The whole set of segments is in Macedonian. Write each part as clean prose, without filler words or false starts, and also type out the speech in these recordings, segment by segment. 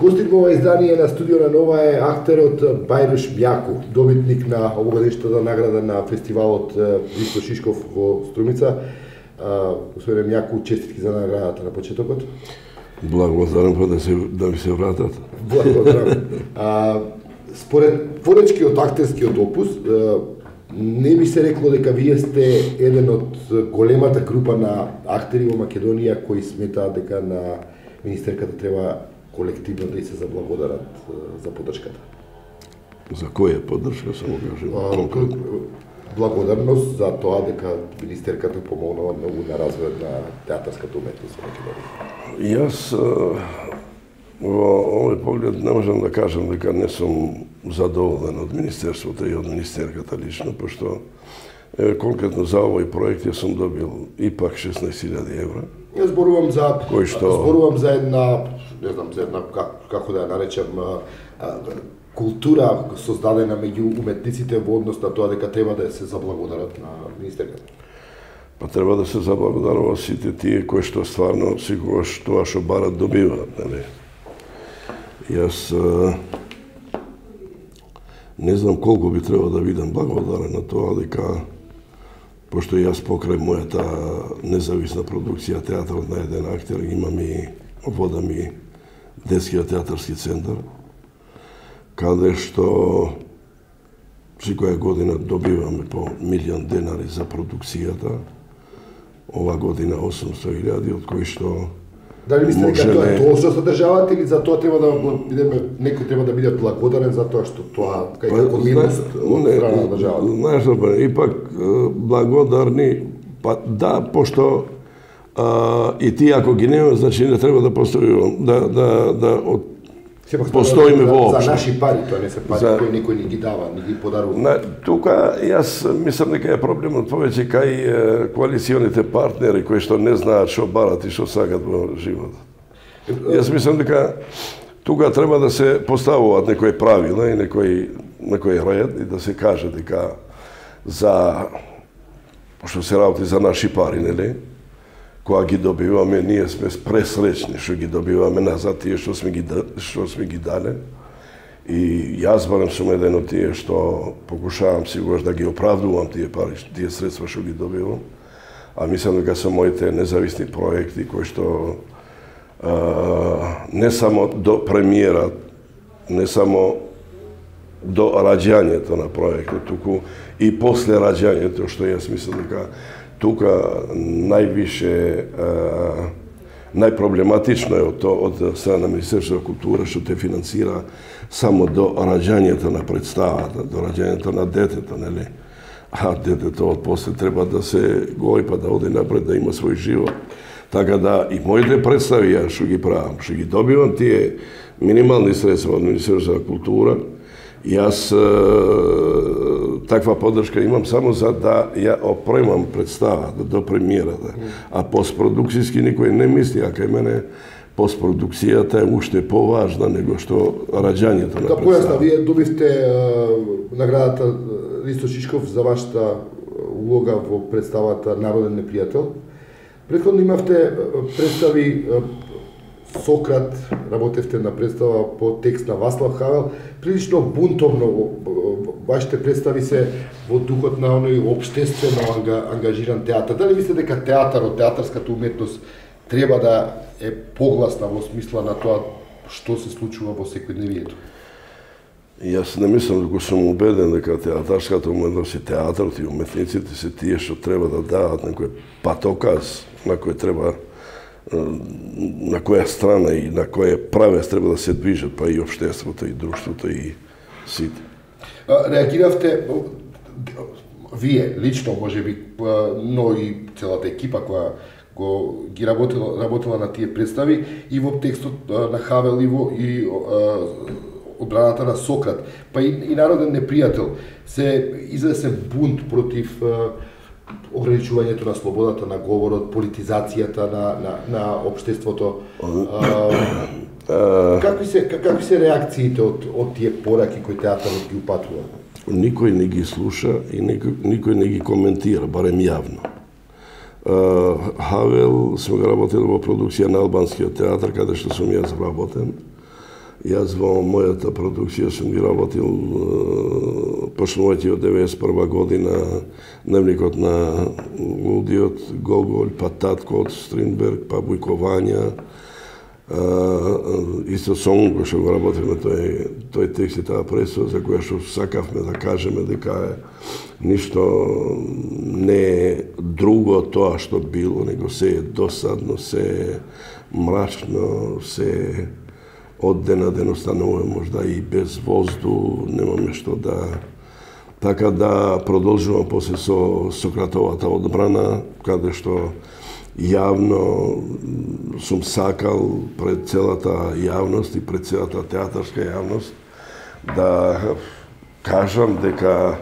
гостит во ова издание на Студио на Нова е актерот Бајрош Мјаку, добитник на овогодишната награда на фестивалот Ристо Шишков во Струмица. Господине Мјаку, честитки за наградата на почетокот. Благодарам да ми се вратат. Благодарам. Според поречкиот актерскиот опус, не би се рекло дека вие сте еден од големата група на актери во Македонија кои сметаат дека на министерката треба колективно да се заблагодарат за поддршката. За која поддршка само кажем? Благодарност за тоа дека министерката помогнала многу на развојот на театарската уметност во Македонија. Јас во овој поглед не можам да кажам дека не сум задоволен од министерството и од министерката лично, пошто конкретно за овој проект ја сум добил ипак 16.000 евра. Јас зборувам за една, не знам, за една како да ја наречам, култура создадена меѓу уметниците во однос на тоа дека треба да се заблагодарат на министерката. Па треба да се заблагодарува сите тие кои што стварно секогаш тоа што барат добиваат, нели? Јас не знам колку би требало да бидам благодарен на тоа дека пошто јас покрај мојата независна продукција театарот на еден актер имам и водам и детскиот театарски центар, каде што секоја година добиваме по 1.000.000 денари за продукцијата. Ова година 800.000, од кои што дали мислите дека тоа е тоа што се државата или за тоа треба да бидеме, некој треба да биде благодарен за тоа што тоа како минус од страна на државата? Знаеш, ипак благодарни, па да, пошто и тие ако ги нема, значи не треба да постои постоиме воопшто. За наши пари, тоа не се пари кои никој не ги дава, не ги подарува. Тука јас мислам дека е проблемот повеќе кај коалиционите партнери кои што не знаат што барат и што сакат во животот. Јас мислам дека тука треба да се поставуваат некои правила и некој ред и да се каже дека за што се работи за наши пари, нели? Кога ги добиваме, ние сме пресречни што ги добиваме назад тие што сме ги дале. И јас барем сум еден од тие што покушавам сигурно да ги оправдувам тие пари, тие средства што ги добивам. А мислам дека се моите независни проекти кои што не само до премиера, не само до раѓањето на проектот, туку и после раѓањето, што јас мислам дека тука највише најпроблематично е од страна на Министерството за култура што те финансира само до раѓањето на представата, до раѓањето на детето, нели? А детето од после треба да се гои па да оди напред, да има свој живот. Така да и моите представи ја што ги правам, што ги добивам тие минимални средства од Министерството за култура, јас таква поддршка имам само за да ја опремам представата до премиерата. А постпродукцијски никој не мисли, а кај мене постпродукцијата е уште поважна него што раѓањето на представата. Да појасна, вие добивте наградата Ристо Шишков за вашата улога во представата Народен непријател. Претходно имавте представи Сократ, работевте на представа по текст на Васлав Хавел, прилично бунтовно вашите представи се во духот на оној општествено ангажиран театар. Дали мислите дека театарот, театарската уметност треба да е погласна во смисла на тоа што се случува во секојдневието? Јас не мислам дека сум убеден дека театарската уметност и театарот и уметниците се тие што треба да дават некој патоказ на кој треба на која страна и на која правец треба да се движат, па и општеството, и друштвото, и сите. Реагиравте, вие лично, можеби, но и целата екипа која ги работела на тие представи и во текстот на Хавел и одбраната на Сократ, па и Народен непријател, се извесен бунт против ограничувањето на слободата на говорот, политизацијата на општеството. Какви се реакциите од тие пораки кои театарот ги упатува? Никој не ги слуша и никој не ги коментира, барем јавно. Хавел сме го работили во продукција на албанскиот театар, каде што сум јас работен. Јас во мојата продукција сум ги работил почнувајќи од 91 година, Дневникот на лудиот, Гоголј, па Татко од Стринберг, па Бујко Вања, исто Сон, кој што го работиме тој текст и таа пресуда, за која што сакавме да кажеме дека ништо не е друго тоа што било, него се е досадно, се е мрачно, се е од ден на ден остануваме можда и без воздух, немаме што да... Така да продолжувам после со Сократовата одбрана, каде што јавно сум сакал пред целата јавност и пред целата театарска јавност да кажам дека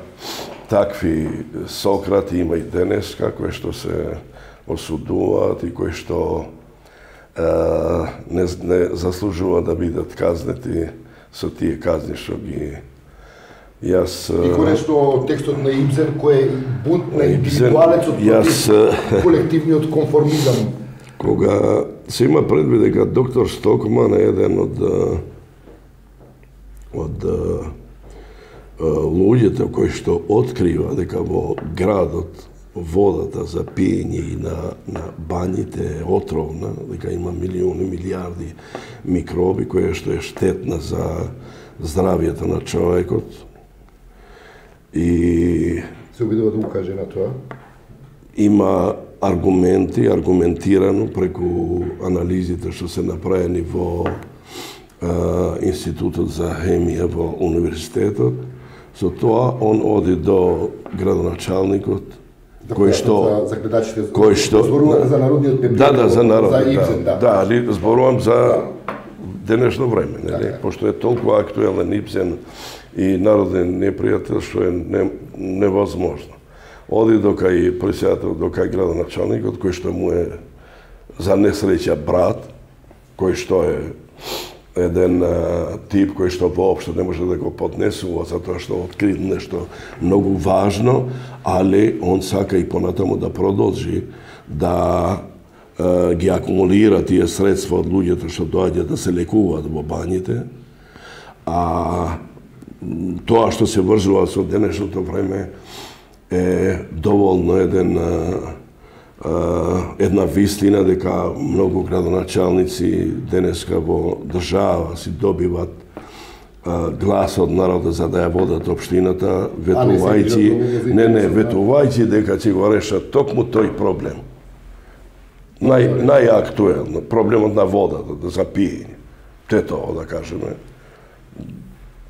такви Сократи има и денеска, кои што се осудуваат и кои што не заслужува да бидат казнети со тие казни што ги јас... И конечно текстот на Ибсен кој е бунт на индивидуалецот против колективниот конформизам. Кога се има предвид дека доктор Стокман е еден од луѓето кои што открива дека во градот водата за пиење и на бањите е отровна, дека има милиони, милиарди микроби, која што е штетна за здравието на човекот. И се обидува да укаже на тоа? Има аргументи, аргументирано преку анализите што се направени во Институтот за хемија во универзитетот. Со тоа он оди до градоначалникот, кој што за гледачите, зборувате за народниот пепел. Да, за народот. За Ибсен, да. Да, али зборувам за денешно време, нели? Пошто е толку актуелен Ибсен и народен непријател што е невозможно. Оди до кај председател, до кај градоначалникот, кој што му е за несреќа брат, кој што е еден тип кој што воопшто не може да го поднесува затоа што открил нешто многу важно, али он сака и понатаму да продолжи да ги акумулира тие средства од луѓето што доаѓаат да се лекуваат во бањите, а тоа што се врзува со денешното време е доволно една вистина дека многу градоначалници денеска во држава си добиват глас од народот за да ја водат општината, ветувајќи дека ќе го решат токму тој проблем. Најактуелно, проблемот на водата, за пиење. Тоа да кажеме.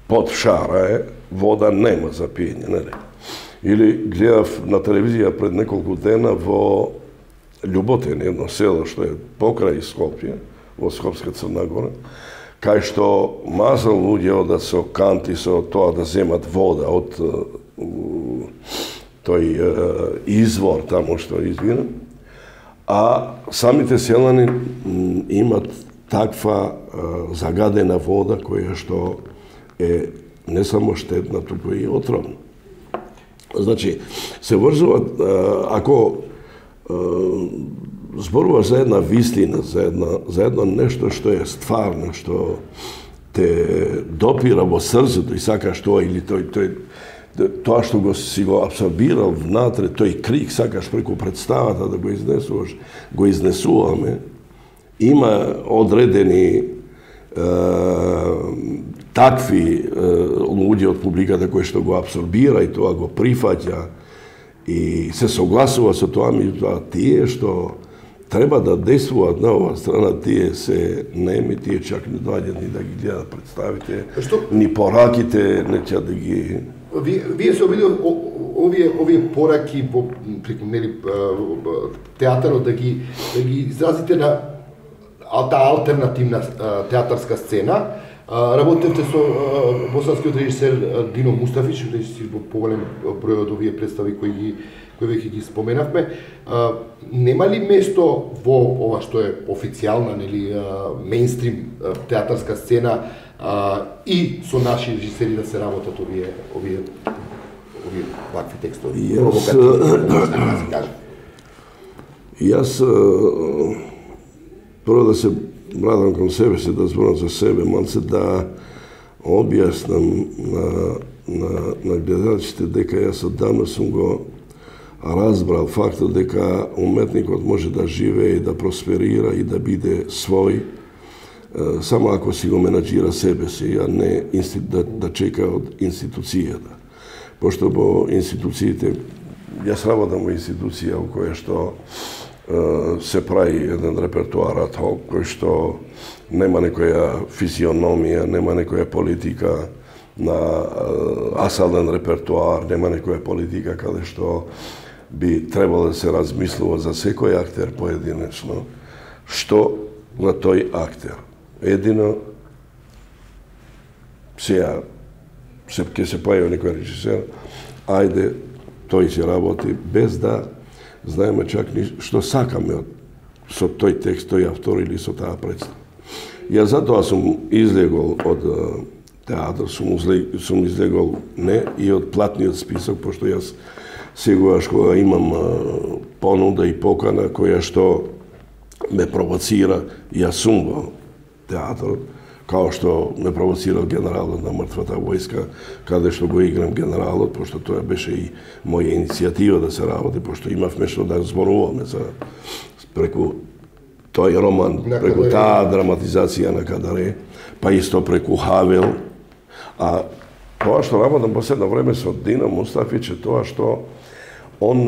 Под шара е, вода нема за пиење, нели? Или гледав на телевизија пред неколку дена во Љуботен, едно село што е покрај Скопје, во Скопска Црна Гора, кај што мазал луѓе одат со канти со тоа да земат вода од тој извор таму што извира, а самите селани имат таква загадена вода која што е не само штетна, туку и отровна. Значи, се врзуваат, ако зборуваш за една вистина, за едно нешто што е стварно, што те допира во срцето и сакаш тоа, или тоа што си го абсорбирал внатре, тој крик сакаш преку представата да го изнесуваш, го изнесуваме, има одредени такви луѓе од публиката кои што го абсорбира и тоа го прифаќа и се согласува со тоа, меѓутоа тие што треба да действуваат на оваа страна, тие се неми, тие чак не доаѓаат ни да ги гледат представите, ни пораките, не ќе да ги... Вие се обидел овие пораки преку театарот да ги изразите на таа алтернативна театарска сцена. Работевте со босанскиот режисер Дино Мустафич, режисер во поголем број од овие представи кои веќе ги споменавме. Нема ли место во ова што е официјална, нели, мејнстрим театарска сцена и со наши режисери да се работат овие вакви текстови? Јас прво да се младам кон себе си, да зборам за себе, малце да објаснам на гледачите дека јас оддавна сум го разбрал фактот дека уметникот може да живее и да просперира и да биде свој само ако си го менаџира себе си, а не да чека од институцијата. Пошто во институциите, јас работам во институција во која што се прави еден репертуар ad hoc, кој што нема некоја физиономија, нема некоја политика на асален репертуар, нема некоја политика каде што би требало да се размислува за секој актер поединечно, што на тој актер. Едино, сега, ќе се појави некој режисер, ајде, тој ќе работи, без да знаеме чак што сакаме со тој текст, тој автор или со таа представа. Јас затоа сум излегол од театар, сум излегол не и од платниот список, пошто јас сегогаш кога имам понуда и покана која што ме провоцира, јас сум во театарот, као што ме провоцирал генералот на мртвата војска, каде што го играм генералот, пошто тоа беше и моја иницијатива да се работи, пошто имавме што да зборуваме за преку тој роман, преку таа драматизација на Кадаре, па исто преку Хавел. А тоа што работам последно време со Дино Мустафич е тоа што он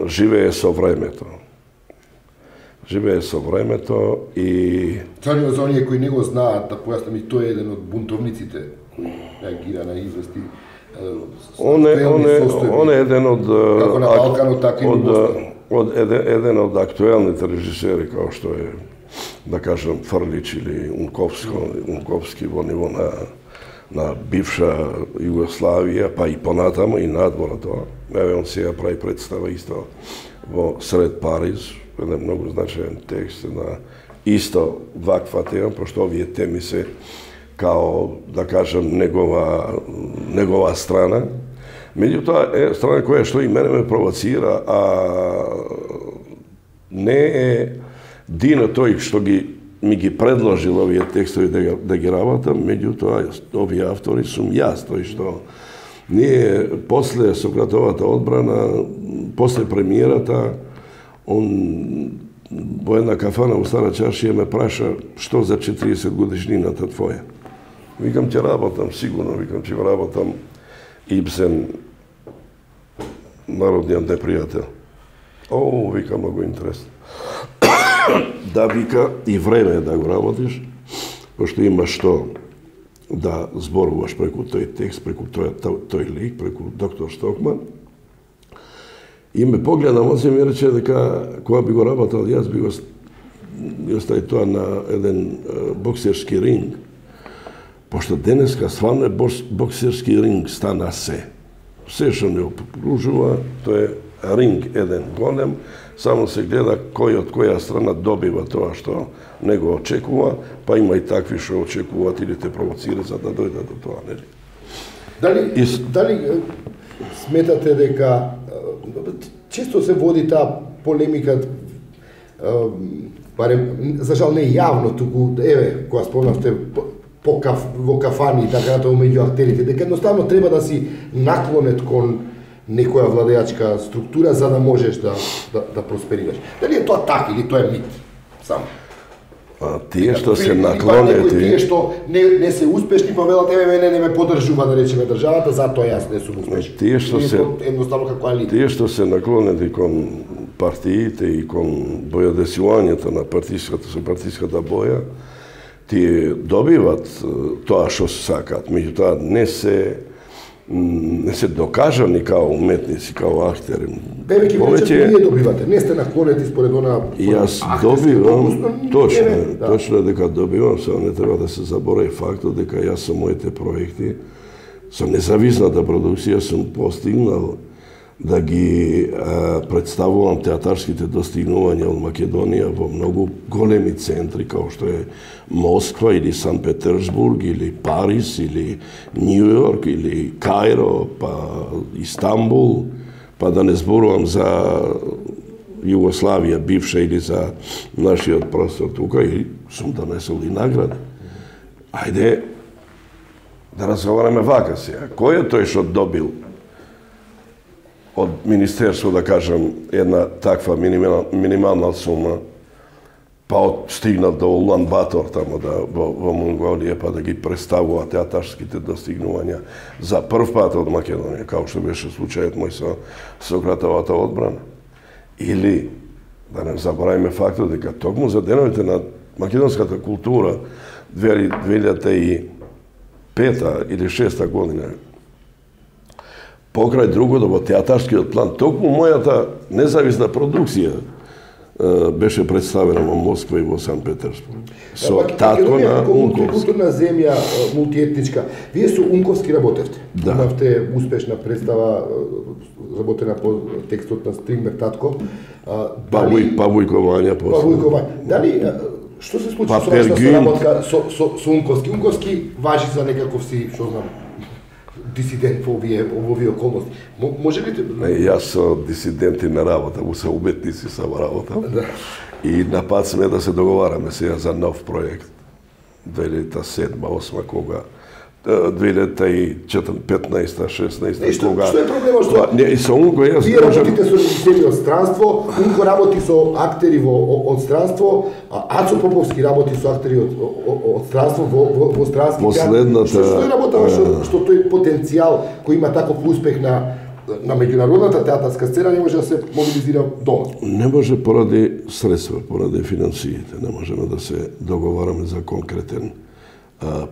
живее со времето. Живее со времето и... За оние кои не го знаат, да појаснам, и тој е еден од бунтовниците кои реагира на извести Он е еден од... Како на Балканот, така и на еден од актуелните режисери, као што е, да кажем, Фрлич или Унковски во ниво на бивша Југославија, па и понатамо и надвора тоа. Еве, он сега прави представа исто во сред Париз, еден многу значаен текст на исто ваква тема, пошто овие теми се као, да кажем, негова страна. Меѓутоа е страна која што и мене ме провоцира, а не е Дино тој што ми ги предложил овие текстови да ги работам, меѓутоа овие автори сум јас, тој што ние после Сократовата одбрана, после премиерата, он во една кафана во Стара Чаршија ме праша што за 40 годишнината твоја. Викам, ќе работам, сигурно, викам, ќе работам Ибсен, народниот непријател. О, вика, многу интересно. Да, вика, и време е да го работиш, пошто имаш што да зборуваш преку тој текст, преку тој лик, преку доктор Стокман. И ме погледа, он се ми рече дека кога би го работал, јас би го стави тоа на еден боксерски ринг, пошто денеска свамне боксерски ринг стана се. Се што не окружува, тоа е ринг еден голем, само се гледа кој од која страна добива тоа што не го очекува, па има и такви што очекуваат или те провоцира за да дојдат до тоа, нели? Дали сметате дека често се води таа полемика, барем за жал не јавно, туку еве кога спомнавте во кафани и така натаму меѓу актерите, дека едноставно треба да си наклонет кон некоја владеачка структура за да можеш да просперираш. Дали е тоа така или тоа е мит? Само. Тие што се наклонети... Тие што не се успешни, па велат, еве мене не ме подржува, да речеме, државата, затоа јас не сум успешен. Тие што се... Едноставно како алите. Тие што се наклонети кон партиите и кон бојодесувањето на партиската боја, тие добиват тоа што сакат, меѓутоа не се докажани као уметници, као актери. Бебе, вие добивате, не сте наклонети според она... Јас добивам, точно дека добивам, само не треба да се заборави фактот дека јас со моите проекти, со независната продукција сум постигнал да ги представувам театарските достигнувања од Македонија во многу големи центри, као што е Москва или Сан Петерсбург, или Париз, или Нью Йорк, или Кајро, па Истанбул, па да не зборувам за Југославија бивша или за нашиот простор тука и сум донесол и награди. Ајде да разговараме вака сега. Кој е тој што добил од Министерство, да кажем, една таква минимална сума, па стигнат до Улан Батор тамо во Монголија, па да ги представува театарските достигнувања за прв пат од Македонија, како што беше случајот мој со Сократовата одбрана. Или, да не забораваме фактот дека токму за деновите на македонската култура 2005 или 2006 година, покрај другото во театарскиот план, токму мојата независна продукција беше представена во Москва и во Санкт Петербург. Со татко на Унковски. Културна земја, мултиетничка. Вие со Унковски работевте. Да. Имавте успешна представа, работена по текстот на Стримбер татко. Павујкувања после. Дали што се случи со вашата соработка со Унковски? Унковски важи за некаков си, што знам, дисидент во овие околности. Може ли? Јас со дисиденти на работа, со уметници сам работа. Да. И на пат сме да се договараме сега за нов проект. 2007-2008 кога 2015-16 кога. Што е проблемот што? Не, и со Унко јас вие работите со режисери од странство, Унко работи со актери од странство, а Ацо Поповски работи со актери од странство во странски театар. Последната Што е работа што тој потенцијал кој има таков успех на меѓународната театарска сцена не може да се мобилизира дома? Не може поради средства, поради финансиите. Не можеме да се договараме за конкретен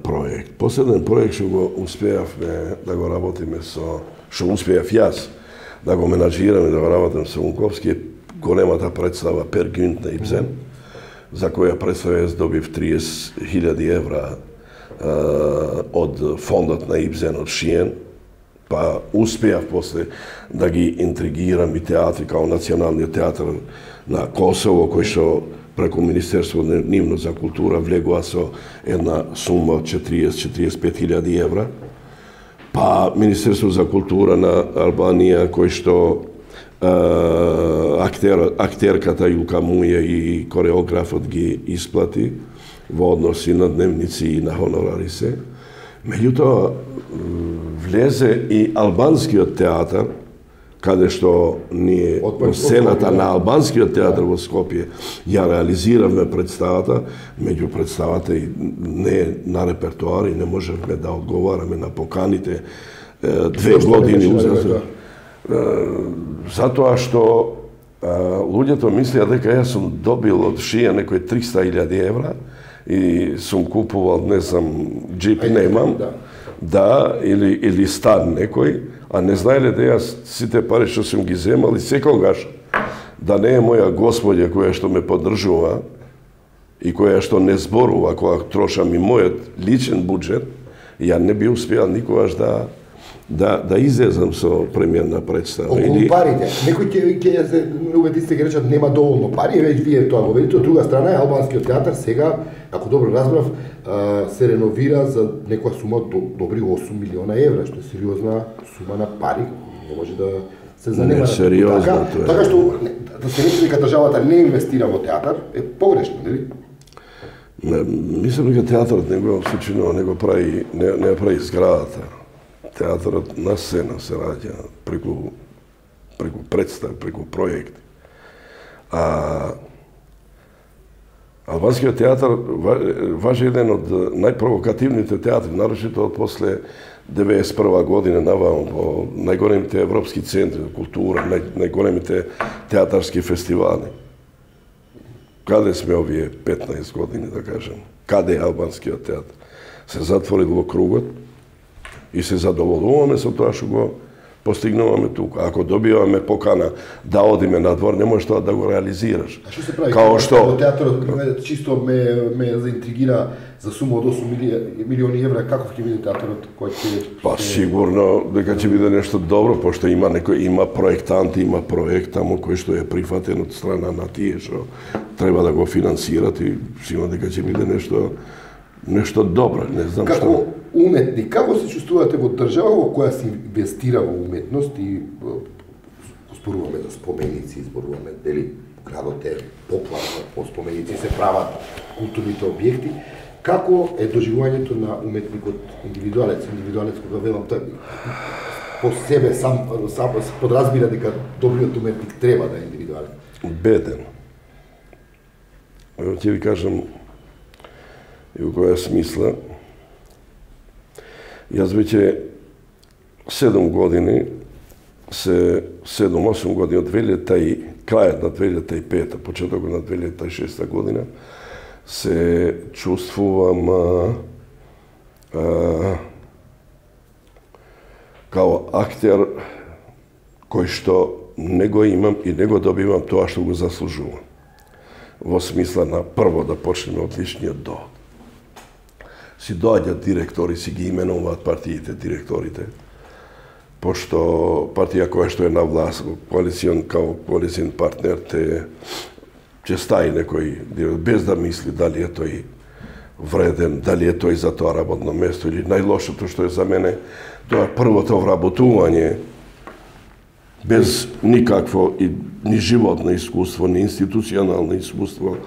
проект. Последен проект што го успеавме да го работиме што успеав јас да го менаџираме, да го работам со Унковски е големата представа Пер Гюнт на Ибсен, за која представа јас добив 30.000 евра од фондот на Ибсен од Шиен, па успеав после да ги интригирам и театри као Националниот театар на Косово, кој што преку Министерство нивно за култура влегува со една сума од 40-45.000 евра, па Министерство за култура на Албанија, кој што актерката Јулка Муја и кореографот ги исплати во односи на дневници и на хонорари се. Меѓутоа, влезе и албанскиот театар, каде што ние во сцената на албанскиот театар во Скопје ја реализиравме представата, меѓу представата и не на репертоар и не можевме да одговараме на поканите 2 години узазад. Затоа што луѓето мислеа дека јас сум добил од Шија некои 300.000 евра и сум купувал, не знам, джип немам, да, или стан некој, а не знаеле да јас сите пари што сум ги земал и секогаш да не е моја господја која што ме поддржува и која што не зборува кога трошам и мојот личен буџет, ја не би успеал никогаш да излезам со премиерна представа. Околу парите. Некој ќе се убедисте ќе речат нема доволно пари, веќе вие тоа го видите. Од друга страна е албанскиот театар сега, ако добро разбрав, се реновира за некоја сума од добри 8 милиона евра, што е сериозна сума на пари. Не може да се занема. Не, сериозно тоа. Така што да се рече дека државата не инвестира во театар е погрешно, нели? Мислам дека театарот не го сочинува, не прави зградата. Театарот на сцена се раѓа преку представ, преку проекти. Албанскиот театар важи еден од најпровокативните театри, нарочито од после 91 година наваму во најголемите европски центри за култура, најголемите театарски фестивали. Каде сме овие 15 години, да кажем? Каде е албанскиот театар? Се затворил во кругот и се задоволуваме со тоа што го постигнуваме тука. Ако добиваме покана да одиме надвор, не можеш тоа да го реализираш. А што се прави? Као што театарот чисто ме заинтригира за сума од 8 милиони евра, каков ќе биде театарот кој ќе Па сигурно дека ќе биде нешто добро, пошто има проектанти, има проект таму кој што е прифатен од страна на тие што треба да го финансират и сигурно дека ќе биде нешто добро, не знам што. Како уметник, како се чувствувате во држава во која се инвестира во уметност и зборуваме за споменици, зборуваме дали градот е поплавно, по споменици се прават културните објекти. Како е доживувањето на уметникот индивидуалец кога велам тој по себе сам подразбира дека добриот уметник треба да е индивидуален? Беден. Ќе ви кажам и у која смисла. Јас веќе 7 години 7-8 години од крајот на 2005, почетокот на 2006 година, се чувствувам као актер кој што не го имам и не го добивам тоа што го заслужувам. Во смисла на прво да почнеме од личниот доход. Си доаѓаат директори, си ги именуваат партиите, директорите, пошто партија која што е на власт, коалицион партнер, ќе стаи некој, без да мисли дали е тој вреден, дали е тој за тоа работно место, или најлошото што е за мене, тоа е првото вработување, без никакво ни животно искуство, ни институционално искуство,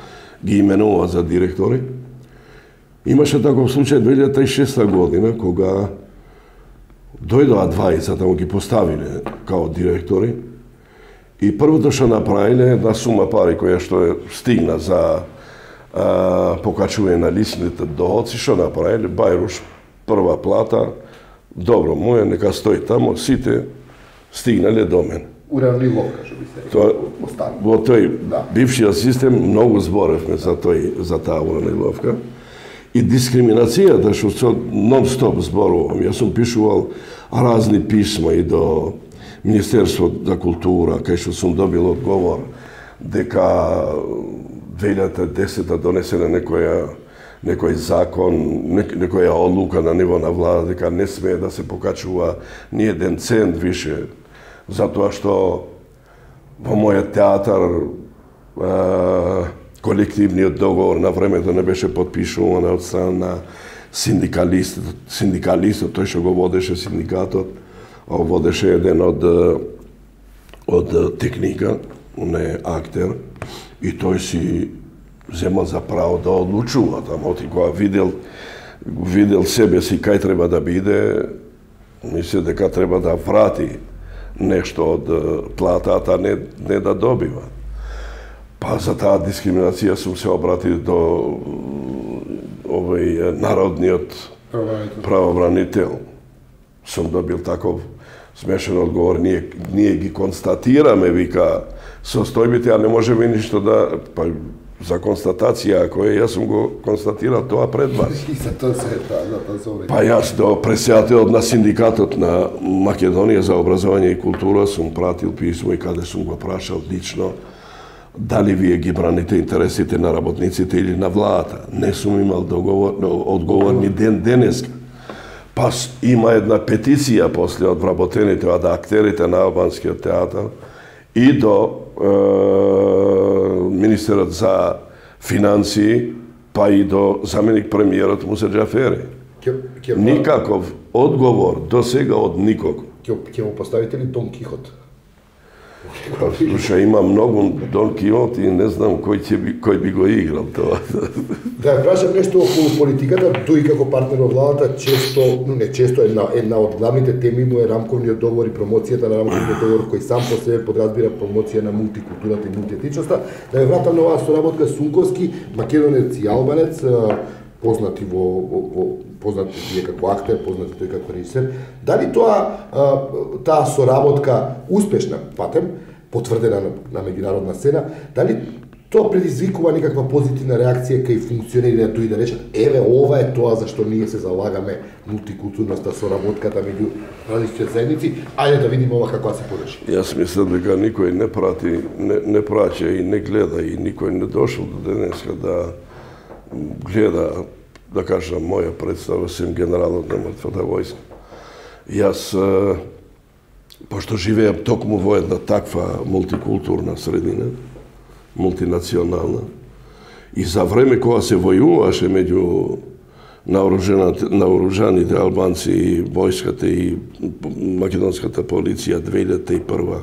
ги именува за директори. Имаше таков случај 2006 година, кога дојдоа двајца да ги поставиле као директори и првото што направиле една сума пари која што стигна за покачување на личните доходци, што направиле? Бајруш, прва плата, добро, моја нека стои тамо, сите стигнале до мен. Уравниловка, што би се рекол. Во тој бившиот систем многу зборевме за таа уравниловка. И дискриминацијата што нон-стоп зборувам. Јас сум пишувал разни писма и до Министерство за култура, кај што сум добил одговор дека 2010 донесена некој закон, некоја одлука на ниво на влада, дека не смее да се покачува ни еден цент више, затоа што во мојот театар колективниот договор на времето не беше подпишуван од страна на синдикалистот, тој што го водеше синдикатот, водеше еден од техника, не актер, и тој си земал за право да одлучува тамо, кога видел себе си кај треба да биде, мисли дека треба да врати нешто од платата, не да добива. Па за таа дискриминација сум се обратил до народниот правобранител. Сум добил таков смешен одговор, ние ги констатираме, вика, состојбите, а не можеме ништо да... Па, за констатација, ако јас сум го констатирал тоа пред вас. И за тоа се Па јас до председателот на синдикатот на Македонија за образование и култура сум пратил писмо и каде сум го прашал лично дали вие ги браните интересите на работниците или на владата. Не сум имал одговор ни денеска. Па има една петиција после од вработените од актерите на албанскиот театар и до министерот за финансии, па и до заменик премиерот Муса Џафери. Никаков одговор до сега од никого. Ќе му поставите ли Дон Кихот? Слуша, има многу Дон Кихот и не знам кој би го играл тоа. Да, прашам нешто околу политиката, тој како партнер во владата, често една од главните теми му е рамковниот договор и промоцијата на рамковниот договор, кој сам по себе подразбира промоција на мултикултурата и мултиетничноста. Да ја вратам на оваа соработка Сунковски, македонец и албанец, познати познати вие како актер, познати тој како режисер. Дали таа соработка успешна, патем, потврдена на меѓународна сцена, дали тоа предизвикува некаква позитивна реакција кај функционерите и да речат еве ова е тоа за што ние се залагаме, мултикултурноста, соработката меѓу различните заедници, ајде да видиме ова како се подеши. Јас мислам дека никој не праќа и не гледа и никој не дошол до денеска да гледа, да кажам, моја представа, сем генералот на мртвата војска. Јас, пошто живеам токму во една таква мултикултурна средина, мултинационална, и за време кога се војуваше меѓу наоружаните албанци и војската и македонската полиција 2001,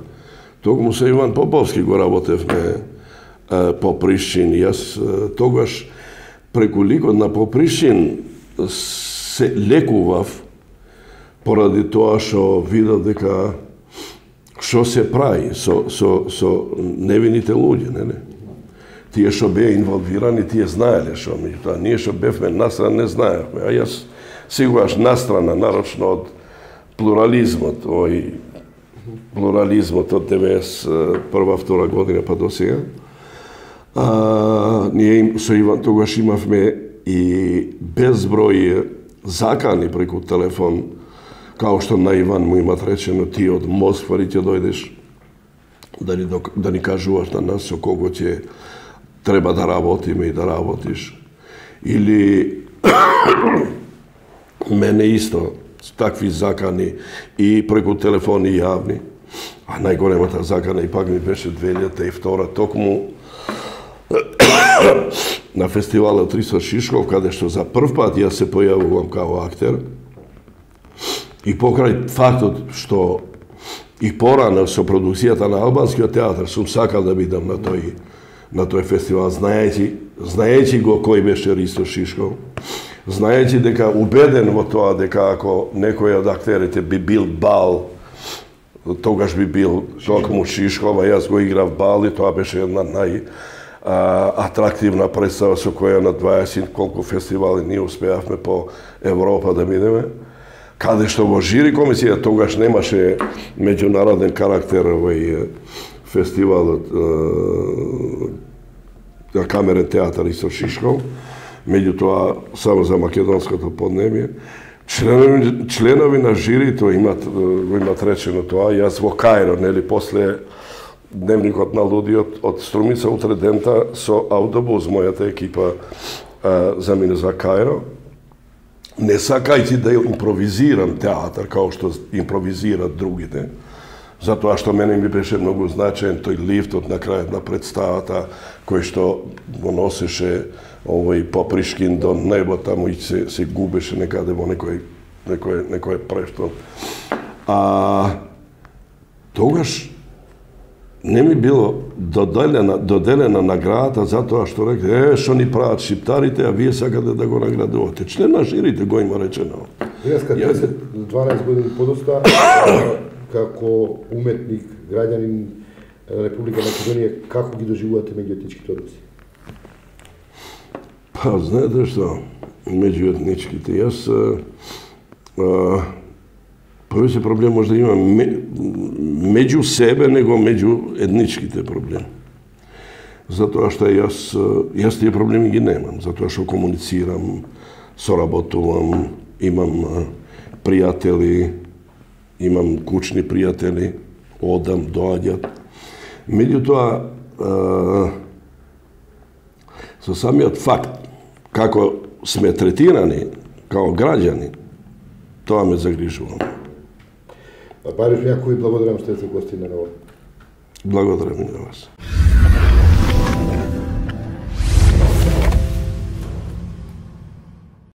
токму со Иван Поповски го работевме Попришчин. Јас тогаш преку ликот на Попришчин се лекував поради тоа што видов дека што се прави со невините луѓе, нели? Тие што беа инволвирани, тие знаеле што, меѓутоа ние што бевме настрана не знаевме, а јас сигураш настрана, нарочно од плурализмот, плурализмот од 91-2 година па до сега. Ние со Иван тогаш имавме и безброј закани преку телефон, као што на Иван му имат речено, ти од Москва ќе дојдеш да ни кажуваш на нас со кого ќе треба да работиме и да работиш. Или мене исто такви закани и преку телефони јавни. А најголемата закана и пак ми беше 2002 токму на фестивалот Ристо Шишков, каде што за прв пат јас се појавувам као актер. И покрај фактот што и порано со продукцијата на албанскиот театар сум сакал да бидам на тој фестивал, знаејќи го кој беше Ристо Шишков, знаејќи дека убеден во тоа дека ако некој од актерите би бил Бал, тогаш би бил токму Шишков, а јас го играв Бал и тоа беше една атрактивна представа со која на 20 колку фестивали ние успеавме по Европа да бидеме. Каде што во жири комисија тогаш немаше меѓународен карактер овој фестивалот на камерен театар Ристо Шишков, меѓутоа само за македонското поднебје. Членови на жирито го имат речено тоа. Јас во Кајро, нели, после Дневникот на лудиот од Струмица утре дента со автобус мојата екипа замине за Кајро. Не сакајќи да импровизирам театар, као што импровизират другите, затоа што мене ми беше многу значаен тој лифтот на крајот на представата, кој што го носеше овој Попришкин до небо, таму и се губеше некаде во некој прештон. Тогаш не ми било доделена наградата затоа што рекле, што ни прават шиптарите, а вие сакате да го наградувате. Член на жирите го има речено. Јас кога 12 години подоста, како уметник, граѓанин Република Македонија, како ги доживувате меѓуетничките односи? Па, знаете што, меѓуетничките, јас повеќе проблем може да имам меѓу себе, него меѓу етничките проблеми. Затоа што јас тие проблеми ги немам, затоа што комуницирам, соработувам, имам пријатели, имам кучни пријатели, одам, доаѓат. Меѓутоа, со самиот факт како сме третирани као граѓани, тоа ме загрижува. Бариш Јакови, благодарам што сте гости на ново. Благодарам и на вас.